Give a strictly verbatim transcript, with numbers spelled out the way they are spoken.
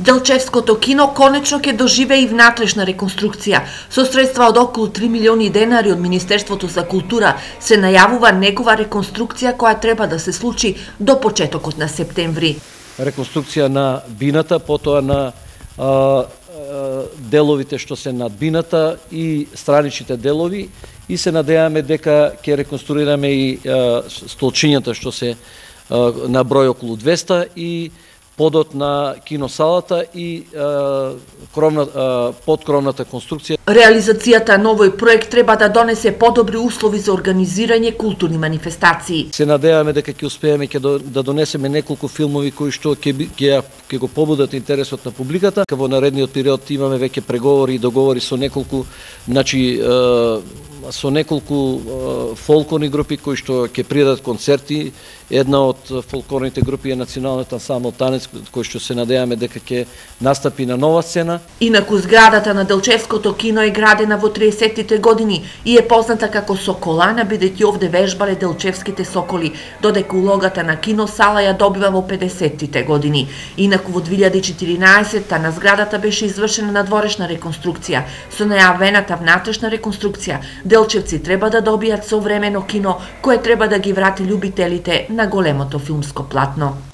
Делчевското кино конечно ќе доживее и внатрешна реконструкција. Со средства од околу три милиони денари од Министерството за култура се најавува негова реконструкција која треба да се случи до почетокот на септември. Реконструкција на бината, потоа на а, а, деловите што се над бината и страничните делови, и се надеваме дека ќе реконструираме и а, столчињата што се а, на број околу двеста и подот на киносалата и а, кровна, а, подкровната конструкција. Реализацијата на овој проект треба да донесе подобри услови за организирање културни манифестации. Се надеваме дека ќе успееме ќе да донесеме неколку филмови кои што ќе ќе ќе го побудат интересот на публиката. Во наредниот период имаме веќе преговори и договори со неколку, значи со неколку фолклорни групи кои што ќе придадат концерти. Една од фолклорните групи е Националниот ансамбл Танец, кој што се надеваме дека ќе настапи на нова сцена. Инаку зградата на Делчевското кино е градена во триесеттите години и е позната како Соколана, бидејќи овде вежбале делчевските соколи, додека улогата на киносала ја добива во педесеттите години. Инаку во две илјади и четиринаесетта на зградата беше извршена надворешна реконструкција. Со најавената внатрешна реконструкција, делчевци треба да добијат современо кино кое треба да ги врати љубителите на големото филмско платно.